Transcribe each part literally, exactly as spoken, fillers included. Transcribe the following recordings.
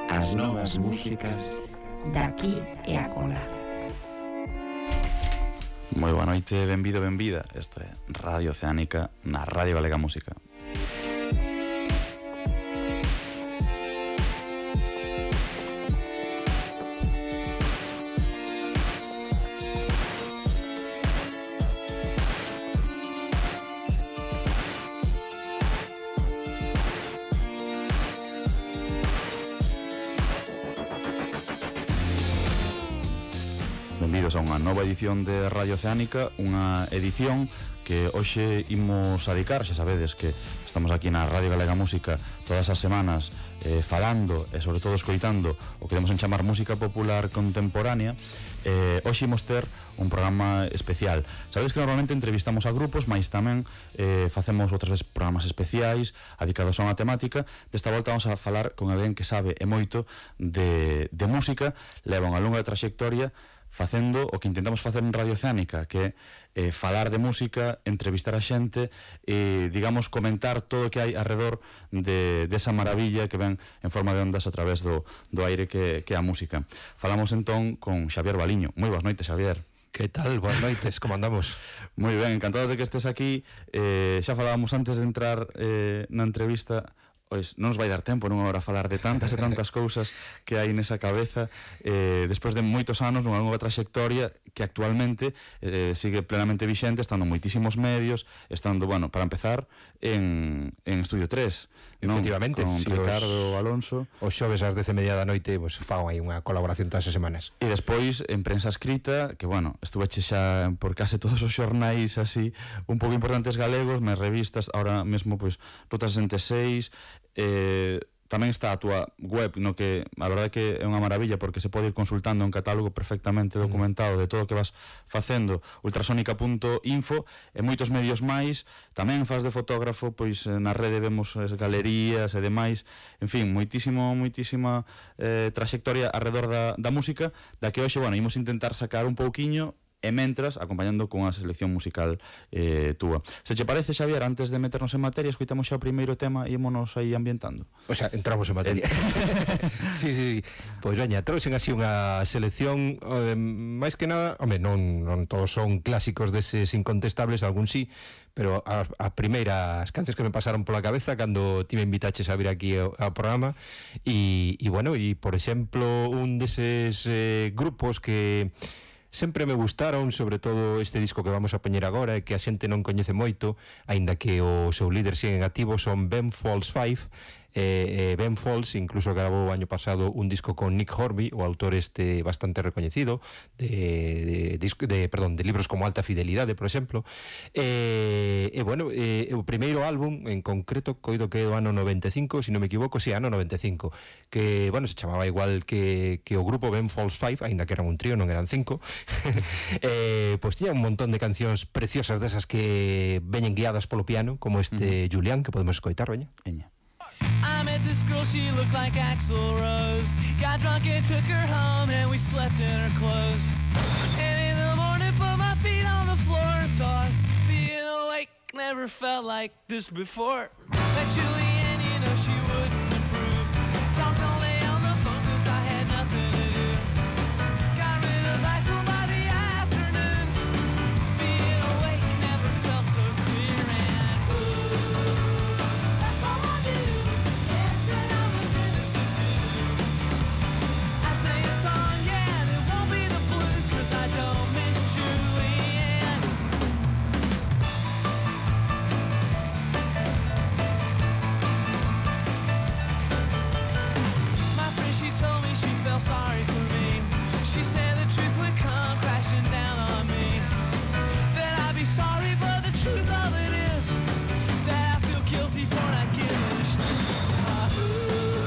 as novas músicas daqui e acolá. Moi boa noite, benvido, benvida. Isto é Radio Oceánica na Radio Galega Música. Benvidos a unha nova edición de Radio Oceánica, unha edición que hoxe imos a dedicar, xa sabedes que estamos aquí na Radio Galega Música todas as semanas eh, falando e sobre todo escoitando o que demos en chamar música popular contemporánea. eh, hoxe imos ter un programa especial. Sabedes que normalmente entrevistamos a grupos, mas tamén eh, facemos outras veces programas especiais dedicados a unha temática. Desta volta vamos a falar con alguén que sabe e moito de, de música, leva unha longa trayectoria facendo o que intentamos facer en Radio Oceánica, que é eh, falar de música, entrevistar a xente e, digamos, comentar todo o que hai alrededor de, de esa maravilla que ven en forma de ondas a través do, do aire que, que é a música. Falamos entón con Xavier Baliño. Moi boas noites, Xavier. Que tal? Boas noites, como andamos? Moi ben, encantados de que estés aquí. eh, Xa falábamos antes de entrar eh, na entrevista. Pois non nos vai dar tempo nunha hora a falar de tantas e tantas cousas que hai nesa cabeza, eh, despois de moitos anos nunha nova trayectoria que actualmente eh, sigue plenamente vixente, estando moitísimos medios, estando, bueno, para empezar en, en Estudio tres, non? Efectivamente, Con si Ricardo os, Alonso. Os xoves ás dez e media da noite, pues, fago aí unha colaboración todas as semanas. E despois en prensa escrita, que, bueno, estuveche xa por case todos os xornais así un pouco importantes galegos, mes revistas, ahora mesmo, pois, Ruta sesenta e seis. Eh, tamén está a túa web, no que a verdade que é unha maravilla porque se pode ir consultando un catálogo perfectamente documentado de todo o que vas facendo, ultrasónica punto info, e moitos medios máis. Tamén faz de fotógrafo, pois na rede vemos as galerías e demais. En fin, moitísimo, moitísima eh, trayectoria alrededor da, da música, da que hoxe, bueno, imos intentar sacar un pouquiño e mentras acompañando con a selección musical eh, túa. Se che parece, Xavier, antes de meternos en materia, escoitamos xa o primeiro tema e ímonos aí ambientando. O sea, entramos en materia. sí, sí, sí. Pois veña, trouxen así unha selección eh, máis que nada, home, non, non todos son clásicos deses incontestables, algún sí, pero a, a primeiras canciones que me pasaron pola cabeza cando ti me invitaches a vir aquí ao, ao programa e, e bueno, e por exemplo, un deses eh, grupos que sempre me gustaron, sobre todo este disco que vamos a poñer agora e que a xente non coñece moito, aínda que o seu líder sigue en activo, son Ben Folds five. eh, eh, Ben Folds incluso grabou o año pasado un disco con Nick Horby, o autor este bastante recoñecido de, de, de, de, perdón, de libros como Alta Fidelidade, por exemplo. E eh, eh, bueno, eh, o primeiro álbum en concreto coido que é do ano noventa e cinco, se non me equivoco, si, sí, ano noventa e cinco, que, bueno, se chamaba igual que, que o grupo Ben Folds five, aínda que eran un trío, non eran cinco. eh, pois tiña un montón de cancións preciosas desas que veñen guiadas polo piano, como este uh-huh. Julián, que podemos escoitar, veña. Veña. I met this girl, she looked like Axl Rose. Got drunk and took her home and we slept in her clothes. And in the morning put my feet on the floor and thought, being awake never felt like this before. That Julianne, you know she wouldn't improve. Talked all day on the phone cause I had nothing to do. Got rid of Axl by the afternoon. Being awake never felt so clear and ooh, that's all I do. I don't miss Julianne. My friend, she told me she felt sorry for me. She said the truth would come crashing down on me. That I'd be sorry, but the truth of it is that I feel guilty for not giving a shit. Uh, ooh,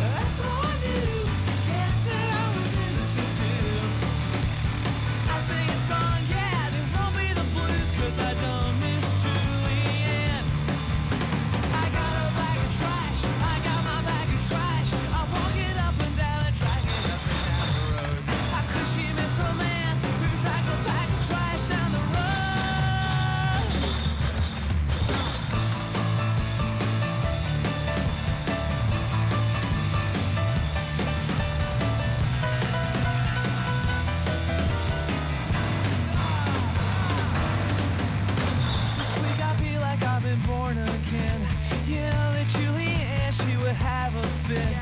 that's all I knew. Guess that I was innocent too. I sing a song, yeah, there won't be the blues, cause I don't miss Julianne. I got a bag of trash, I got my bag of trash. I walk it up and down the track and up and have a fit.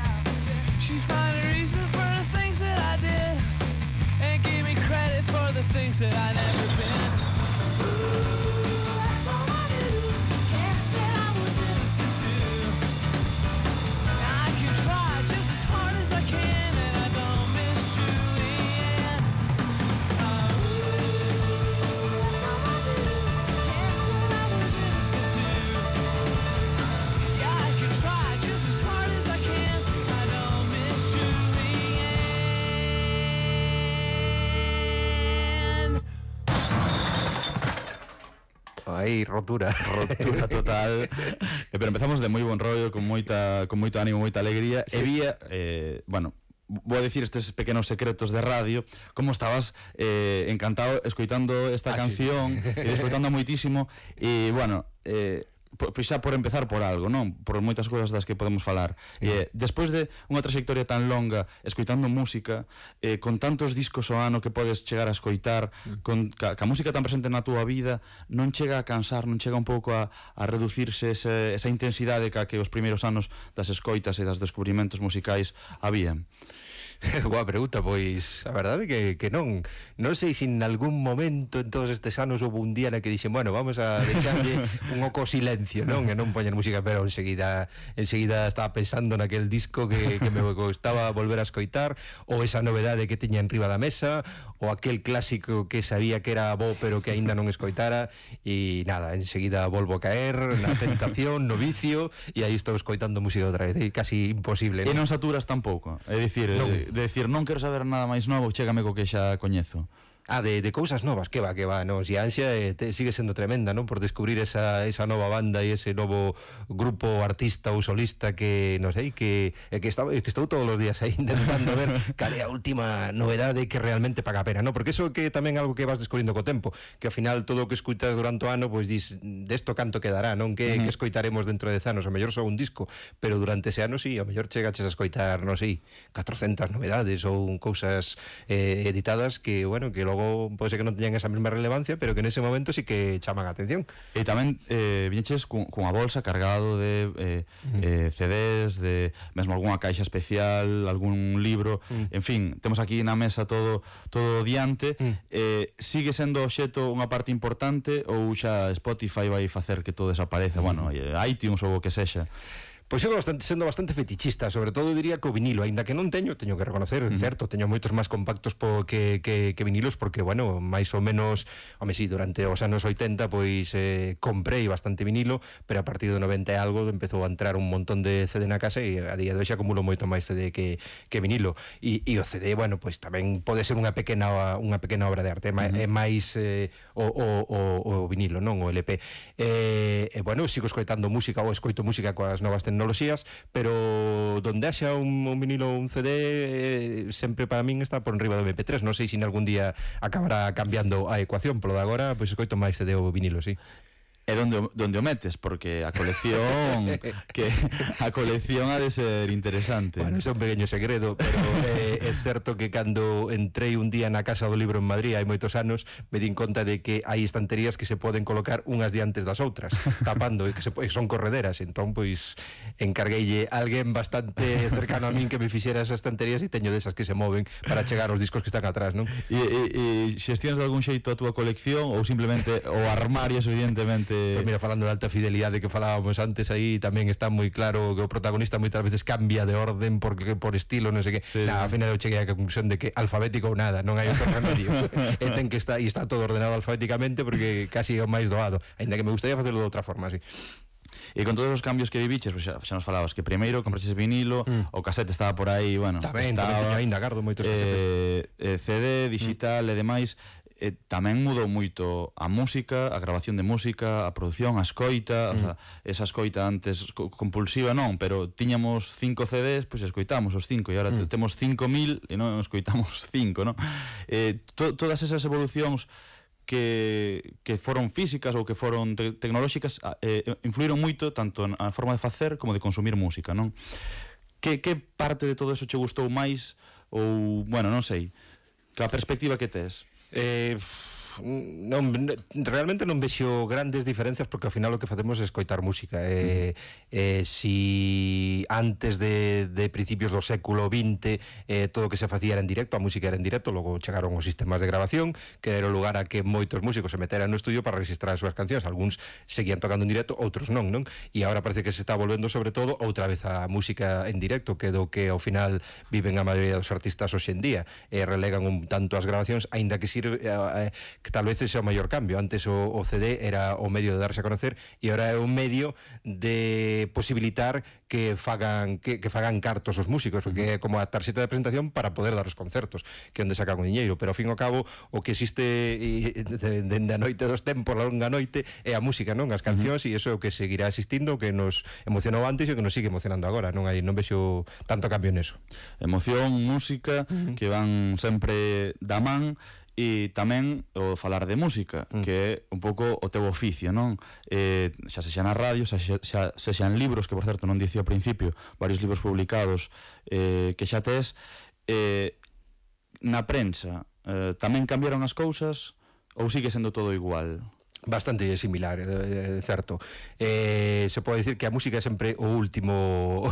She find a reason for the things that I did and give me credit for the things that I never been. Ooh, that's all I knew. Can't say I was innocent too. I can try just as hard as I can, and I don't miss Julianne. Uh, ooh, that's all I knew. Can't say I was innocent too. Yeah, I can try just as hard as I can. I don't miss Julianne. Aí, rotura. Rotura total. Eh, pero empezamos de moi bon rollo, con moita con moito ánimo, moita alegría. Sí. E vía, eh, bueno, vou a dicir estes pequenos secretos de radio, como estabas eh, encantado escoitando esta ah, canción, sí. E disfrutando moitísimo, e, bueno, eh, pois xa por empezar por algo, non? Por moitas cousas das que podemos falar. E, despois de unha trayectoria tan longa escoitando música, eh, con tantos discos ao ano que podes chegar a escoitar, con ca, ca música tan presente na túa vida, non chega a cansar, non chega un pouco a, a reducirse ese, esa intensidade ca que os primeiros anos das escoitas e das descubrimentos musicais habían? Boa pregunta, pois a verdade que, que non non sei se en algún momento en todos estes anos houve un día na que dixen, bueno, vamos a deixarlle un oco silencio, non? E non poñer música, pero enseguida enseguida estaba pensando naquel disco que, que me gustaba volver a escoitar, ou esa novedade que tiña enriba da mesa, ou aquel clásico que sabía que era bo pero que aínda non escoitara, e nada, enseguida volvo a caer na tentación, no vicio, e aí estou escoitando música outra vez, e casi imposible, non? E non non saturas tampouco, é dicir, non. De, de decir, non quero saber nada máis novo, chégame co que xa coñezo. Ah, de, de cousas novas, que va, que va, non? Si a ansia eh, te, sigue sendo tremenda, non? Por descubrir esa, esa nova banda e ese novo grupo artista ou solista que, non sei, que, que, está, que estou todos os días aí intentando ver cal é a última novedade que realmente paga a pena, non? Porque iso que tamén algo que vas descubrindo co tempo, que ao final todo o que escutas durante o ano, pois dis, desto canto quedará, non? Que, uh-huh. que escoitaremos dentro de dez anos, o mellor só un disco, pero durante ese ano, sí, o mellor chegaches a escoitar, non sei, catrocentas novedades ou cousas eh, editadas que, bueno, que logo pode ser que non teñan esa mesma relevancia, pero que nese momento sí que chaman a atención. E tamén eh, viñeches cunha bolsa cargado de eh, mm. eh, C Ds, de mesmo algunha caixa especial, algún libro, mm. en fin, temos aquí na mesa todo todo diante. Mm. Eh, sigue sendo o xeto unha parte importante ou xa Spotify vai facer que todo desapareza? Mm. Bueno, iTunes ou o que sexa. Pois eu bastante, sendo bastante fetichista, sobre todo diría que o vinilo, aínda que non teño, teño que reconocer, uh-huh. certo, teño moitos máis compactos po que, que, que vinilos, porque, bueno, máis ou menos, home, sí, durante os anos oitenta, pois eh, comprei bastante vinilo, pero a partir do noventa e algo empezou a entrar un montón de C D na casa e a día de hoxe acumulo moito máis C D que, que vinilo. E, e o C D, bueno, pois tamén pode ser unha pequena unha pequena obra de arte, uh-huh. é máis eh, o, o, o, o vinilo, non o L P. E, eh, bueno, sigo escoitando música ou escoito música coas novas tecnologías, pero donde haxa un, un vinilo ou un C D eh, sempre para min está por enriba do M P tres. Non sei se algún día acabará cambiando a ecuación, polo de agora pois escoito máis C D ou vinilo, sí. É donde, donde o metes, porque a colección que a colección ha de ser interesante. Bueno, é un pequeño segredo, pero eh, é certo que cando entrei un día na Casa do Libro en Madrid hai moitos anos, me din conta de que hai estanterías que se poden colocar unhas diantes das outras, tapando, e que se, son correderas. Entón, pois, encargueille a alguén bastante cercano a min que me fixera esas estanterías, e teño desas que se moven para chegar aos discos que están atrás, non? E, e, e xestionas de algún xeito a túa colección ou simplemente o armario, evidentemente? Pois mira, falando de alta fidelidade que falábamos antes, aí tamén está moi claro que o protagonista moitas veces cambia de orden porque por estilo, non sei que. Sí, nah, ao final eu cheguei á conclusión de que alfabético ou nada, non hai outro remedio. E ten que estar, e está todo ordenado alfabéticamente porque casi é o máis doado, aínda que me gustaría facelo de outra forma, así. E con todos os cambios que viviches, pues xa, xa nos falabas que primeiro compraches vinilo, mm. o casete estaba por aí, bueno, tamén, estaba, tamén teño ainda, gardo moitos casetes. Eh, C D, digital mm. e demais. Eh, tamén mudou moito a música, a grabación de música, a produción, a escoita, mm. o sea, esa escoita antes compulsiva non, pero tiñamos cinco C Ds, pois pues escoitamos os cinco, e agora mm. temos cinco mil e non escoitamos cinco, non? Eh, to, todas esas evolucións que, que foron físicas ou que foron te tecnolóxicas eh, influíron moito tanto na forma de facer como de consumir música, non? Que, que parte de todo eso che gustou máis ou, bueno, non sei, que a perspectiva que tes? Eh, non, realmente non vexo grandes diferencias, porque ao final o que facemos é escoitar música. Eh, eh, si antes de, de principios do século vinte eh, todo o que se facía era en directo, a música era en directo, logo chegaron os sistemas de grabación, que era o lugar a que moitos músicos se meteran no estudio para registrar as súas cancións. Algúns seguían tocando en directo, outros non, non? E agora parece que se está volvendo sobre todo outra vez a música en directo, que do que ao final viven a maioría dos artistas hoxe en día, e relegan un tanto as grabacións, aínda que sirve eh, que tal vez ese é o maior cambio. Antes o, o C D era o medio de darse a conocer, e agora é un medio de posibilitar que fagan que, que fagan cartos os músicos, porque é como a tarxeta de presentación para poder dar os concertos, que é onde sacan o diñeiro. Pero ao fin e ao cabo o que existe dende a noite dos tempos, a longa noite, é a música, non? As cancións, e iso é o que seguirá existindo, que nos emocionou antes e o que nos sigue emocionando agora. Non hai non vexo tanto cambio neso. Emoción, música, uh-huh. que van sempre da man. E tamén o falar de música, mm. que é un pouco o teu oficio, non? Eh, xa sexa na radio, xa, xa, xa en libros, que por certo non dicía ao principio, varios libros publicados eh, que xa tes, eh, na prensa eh, tamén cambiaron as cousas ou sigue sendo todo igual? Bastante similar, é certo. Eh, se pode dicir que a música é sempre o último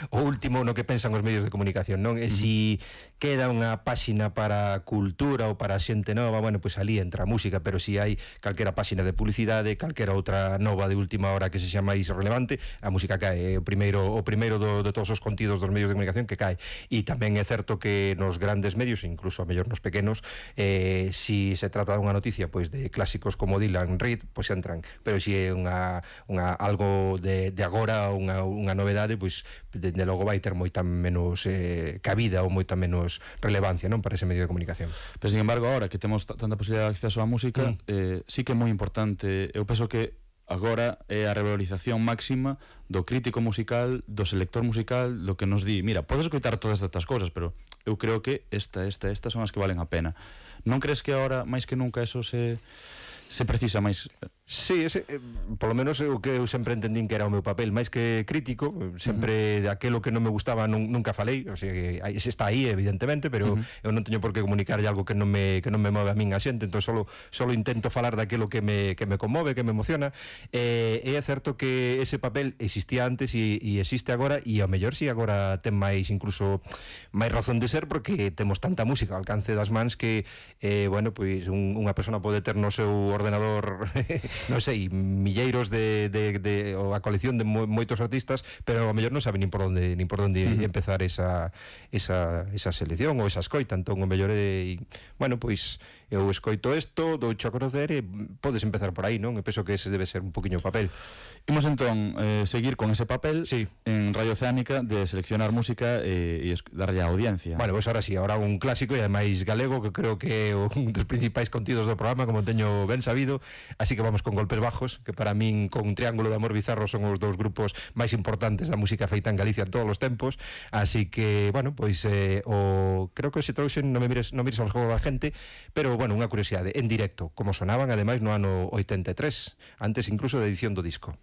o último no que pensan os medios de comunicación, non? E se si queda unha páxina para cultura ou para xente nova, bueno, pois pues ali entra a música, pero se si hai calquera páxina de publicidade, calquera outra nova de última hora que se xa máis relevante, a música cae, é o primeiro o primeiro do, de todos os contidos dos medios de comunicación que cae. E tamén é certo que nos grandes medios, incluso a mellor nos pequenos, eh, se si se trata dunha noticia pois pues de clásicos como Dylan, Reed, pois pues entran, pero se si é unha, unha algo de, de agora, unha, unha novedade, pois pues, de, de logo vai ter moita menos eh, cabida ou moita menos relevancia, non, para ese medio de comunicación. Pero sin embargo, agora que temos tanta posibilidade de acceso á música, mm. eh, sí que é moi importante. Eu penso que agora é a revalorización máxima do crítico musical, do selector musical, do que nos di, mira, podes escoitar todas estas cousas, pero eu creo que esta, esta, estas son as que valen a pena. Non crees que agora, máis que nunca, eso se... se precisa máis? Sí, ese, eh, polo menos o que eu sempre entendín que era o meu papel, máis que crítico, sempre uh -huh. de aquelo que non me gustaba non, nunca falei, o sea que ese está aí evidentemente, pero uh -huh. eu non teño por que comunicarlle algo que non me que non me move a min a xente, entón solo solo intento falar daquelo que me que me conmove, que me emociona. Eh, e é certo que ese papel existía antes e, e existe agora, e ao mellor si agora ten máis incluso máis razón de ser, porque temos tanta música ao alcance das mans que eh, bueno, pois un, unha persona pode ter no seu ordenador non sei, milleiros de, de, de ou a colección de mo, moitos artistas, pero ao mellor non sabe nin por onde nin por onde uh -huh. empezar esa, esa, esa selección ou esa escoita. Entón o mellor é, bueno, pois eu escoito isto, doucho a conocer e podes empezar por aí, non? E penso que ese debe ser un poquinho o papel. Imos entón eh, seguir con ese papel sí. en Radio Oceánica de seleccionar música e, e darlle a audiencia. Bueno, pois pues ahora sí, ahora un clásico e ademais galego, que creo que é un dos principais contidos do programa, como teño ben sabido, así que vamos con Golpes Bajos, que para min con Triángulo de Amor Bizarro son os dous grupos máis importantes da música feita en Galicia en todos os tempos, así que, bueno, pois eh, o creo que se trouxen, non me mires, non mires ao jogo da gente, pero, bueno, unha curiosidade, en directo, como sonaban ademais no ano oitenta e tres, antes incluso da edición do disco.